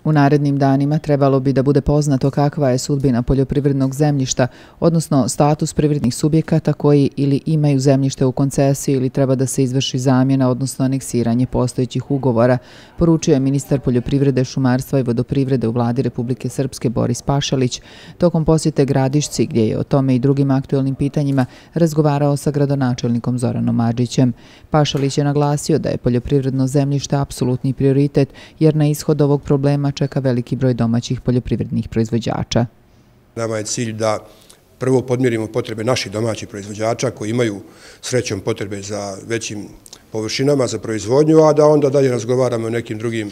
U narednim danima trebalo bi da bude poznato kakva je sudbina poljoprivrednog zemljišta, odnosno status privrednih subjekata koji ili imaju zemljište u koncesiji ili treba da se izvrši zamjena, odnosno aneksiranje postojećih ugovora, poručio je ministar poljoprivrede, šumarstva i vodoprivrede u vladi Republike Srpske Boris Pašalić tokom posjete Gradišci, gdje je o tome i drugim aktuelnim pitanjima razgovarao sa gradonačelnikom Zoranom Adžićem. Pašalić je naglasio da je poljoprivredno zemljište apsolutni prioritet, jer na ishod ovog problema čeka veliki broj domaćih poljoprivrednih proizvođača. Nama je cilj da prvo podmirimo potrebe naših domaćih proizvođača koji imaju srećom potrebe za većim površinama za proizvodnju, a da onda dalje razgovaramo o nekim drugim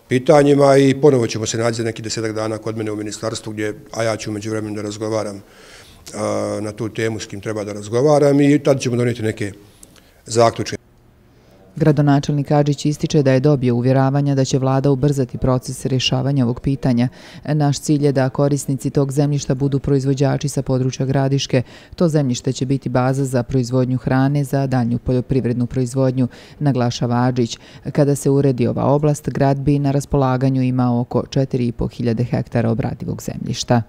pitanjima i ponovo ćemo se naći za neki 10 dana kod mene u ministarstvu, a ja ću umeđu vremenu da razgovaram na tu temu s kim treba da razgovaram i tada ćemo donijeti neke zaključke. Gradonačelnik Adžić ističe da je dobio uvjeravanja da će vlada ubrzati proces rješavanja ovog pitanja. Naš cilj je da korisnici tog zemljišta budu proizvođači sa područja Gradiške. To zemljište će biti baza za proizvodnju hrane za daljnju poljoprivrednu proizvodnju, naglašava Adžić. Kada se uredi ova oblast, grad bi na raspolaganju imao oko 4.500 hektara obradivog zemljišta.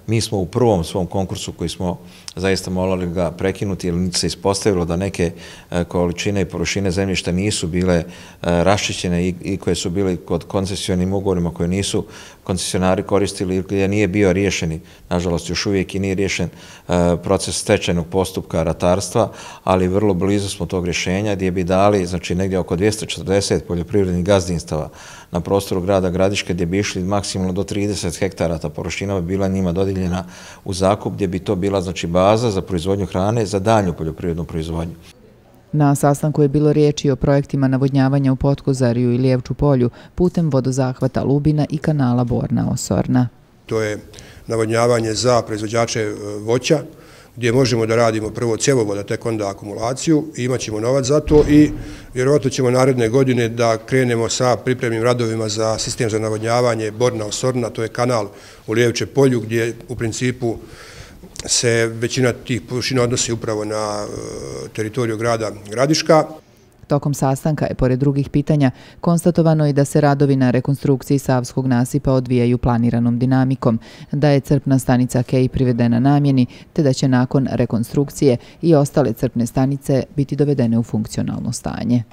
Mi smo u prvom svom konkursu koji smo zaista morali ga prekinuti jer se ispostavilo da neke količine i površine zemljišta nisu bile raščišćene i koje su bili kod koncesionim ugovorima koje nisu koncesionari koristili ili gdje nije bio riješeni, nažalost još uvijek i nije riješen proces stečajnog postupka ratarstva, ali vrlo blizu smo tog rješenja gdje bi dali znači negdje oko 240 poljoprivrednih gazdinstava na prostoru grada Gradiške gdje bi išli maksimalno do 30 hektara, ta površina bi bila njima dodijeljena u zakup gdje bi to bila znači baza za proizvodnju hrane za daljnju poljoprivrednu proizvodnju. Na sastanku je bilo riječi o projektima navodnjavanja u Potkozariju i Lijevču polju putem vodozahvata Lubina i kanala Borna-Osorna. To je navodnjavanje za proizvođače voća, gdje možemo da radimo prvo cjevovod, a tek onda akumulaciju, imat ćemo novac za to i vjerovatno ćemo naredne godine da krenemo sa pripremnim radovima za sistem za navodnjavanje Borna-Osorna, to je kanal u Lijevče polju gdje u principu se većina tih površina odnosi upravo na teritoriju grada Gradiška. Tokom sastanka je, pored drugih pitanja, konstatovano i da se radovi na rekonstrukciji Savskog nasipa odvijaju planiranom dinamikom, da je crpna stanica Kej privedena namjeni, te da će nakon rekonstrukcije i ostale crpne stanice biti dovedene u funkcionalno stanje.